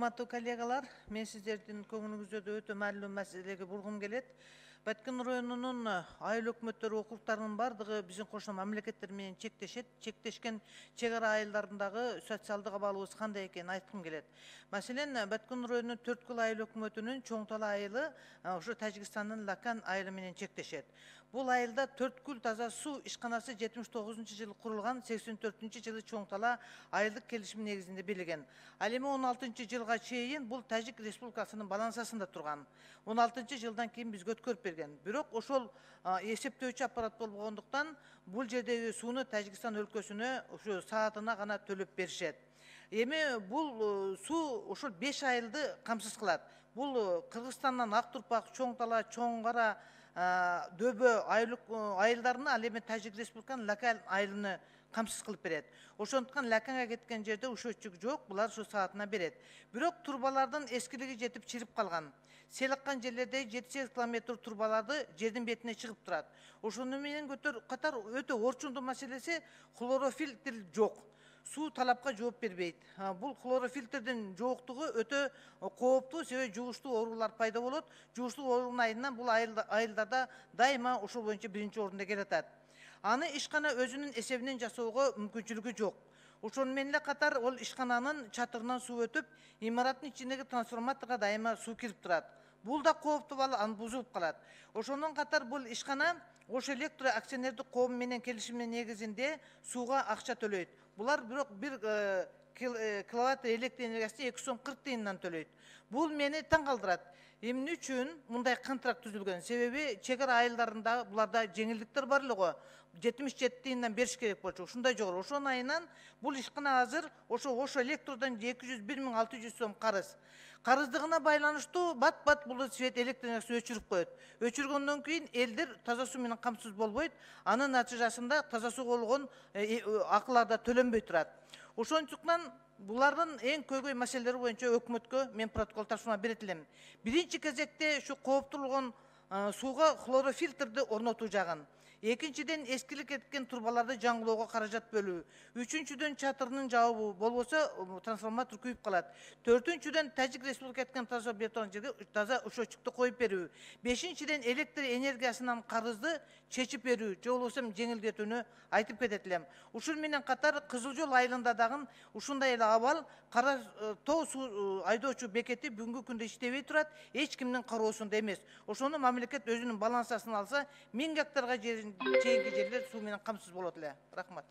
Урматтуу коллегалар, мен сиздердин көңүлүңүздө өтө маанилүү маселеге бургум келет. Баткен районунун айыл өкмөттөрү округдарынын бардыгы биздин кошуна мамлекеттер менен чектешет. Чектешкен чек ара айылдарындагы социалдык абалыбыз кандай экенин айткым келет. Маселен, Баткен районунун Төрткүл айыл өкмөтүнүн Чоң Тала айылы ошо Тажикстандын Лакан айылы менен чектешет. Бул айылда Төрткүл таза суу ишканасы 79-жылы курулган, 84-жылы Чоң Тала айылдык келишим негизинде берилген. Ал эми 16-жылга чейин бул Тажик Республикасынын балансасында турган. 16-жылдан кийин бизге өткөрүп берген. Бирок ошол эсептөөчү аппарат болбогондуктан бул жердеги сууну Тажикстан өлкөсүнө ошо саатына гана төлөп беришет. Эми бул суу ошол 5 айылды камсыз кылат. Бул Кыргызстандан Актурпак, Чоң Тала, Чоң Кара, Дөбө айылдарына, ал эми Тажик Республиканын Лакан айылыны камсыз кылып берет. Ошондуктан Лаканга кеткен жерде ушөчүк жок, булар ушу саатына берет. Бирок турбалардын эскилиги жетип чирип калган. Сел аккан жерлерде 7-8 километр турбаларды жердин бетине чыгып турат. Ошону менен катар өтө орчундуу маселеси хлорофильтр жок. Суу талапка жооп бербейт. Бул хлорофильтрдин жоктугу өтө кооптуу, себеби жугуштуу оорулар пайда болот. Жугуштуу оорунун айынан бул айылдарда дайыма ошол боюнча биринчи орунда келатат. Аны ишкана өзүнүн эсебинен жасоого мүмкүнчүлүгү жок. Ошону менен эле катар ол ишкананын чатырынан суу өтүп, имараттын ичиндеги трансформаторго дайыма суу кирип турат. Бул да кооптуу балл, аны бузулуп калат. Ошондон катар бул ишкана Ош электро акционердик коому менен келишимдин негизинде сууга акча төлөйт. Булар бирок 1 киловатт электр энергиясына 2 сом 40 тыйындан төлөйт. Бул мени таң калтырат. Эмне үчүн мындай контракт түзүлгөн? Себеби чек ара айылдарында буларда жеңилдиктер бар эле го. 77 тыйындан бериш керек болчу. Ушундай жогору. Ошонун айынан бул ишкана азыр ошо Ош электродон 201.600 сом карыз. Карыздыгына байланыштуу бат-бат бул свет электр энергиясын өчүрүп коет. Өчүргөндөн кийин элдер таза суу менен камсыз болбойт. Анын натыйжасында таза сууга болгон акылар да төлөнбөй турат. Ошондуктан булардын эң көйгөй маселелери боюнча өкмөткө мен протокол тапшырма берет элем. Биринчи кезекте ушу кооптуулгон сууга хлорофильтрди орнотуу жагын. Экинчиден эскилик кеткен турбаларды жаңылоого каражат бөлүү. Үчүнчүдөн чатырынын жабуу, болбосо трансформатор күйүп калат. Төртүнчүдөн Тажик Республика кеткен таза бетон жерге таза ушөчүктү коюп берүү. Бешинчиден электр энергиясынан карызды чечип берүү, же болбосо жеңилдетүүнү айтып кетет элем. Ушул менен катар Кызыл Жол айылында дагы ушундай эле абал, Кара Тоо суу айдоочу бекети бүгүнкү күндө иштебей турат, эч кимдин кароосунда эмес. Ошону мамлекет өзүнүн балансасын алса, 1000 гектарга чейинки жерлер суу менен камсыз болот эле. Рахмат.